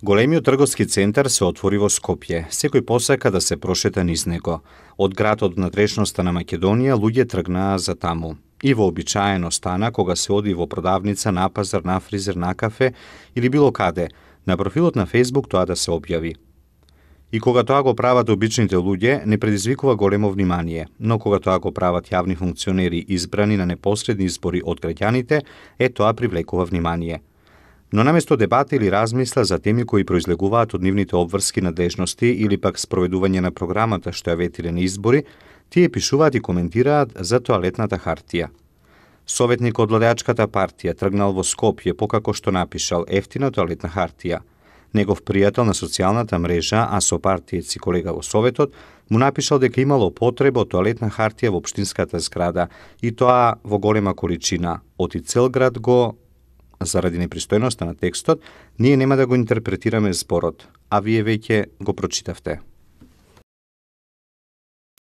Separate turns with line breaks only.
Големиот трговски центар се отвори во Скопје. Секој посака да се прошета низ него. Од градот внатрешноста на Македонија луѓе тргнаа за таму. И вообичаено стана кога се оди во продавница, на пазар, на фризер, на кафе или било каде, на профилот на Facebook тоа да се објави. И кога тоа го прават обичните луѓе, не предизвикува големо внимание, но кога тоа го прават јавни функционери избрани на непосредни избори од граѓаните, тоа привлекува внимание. Но наместо дебата или размисла за теми кои произлегуваат од нивните обврски надежности или пак спроведување на програмата што ја ветиле на избори, тие пишуваат и коментираат за тоалетната хартија. Советник од владеачката партија тргнал во Скопје покако што напишал ефтина тоалетна хартија. Негов пријател на социјалната мрежа, а со партиец и колега во Советот, му напишал дека имало потреба од тоалетна хартија во општинската зграда и тоа во голема количина. Оти цел град го заради непристојноста на текстот, ние нема да го интерпретираме зборот, а вие веќе го прочитавте.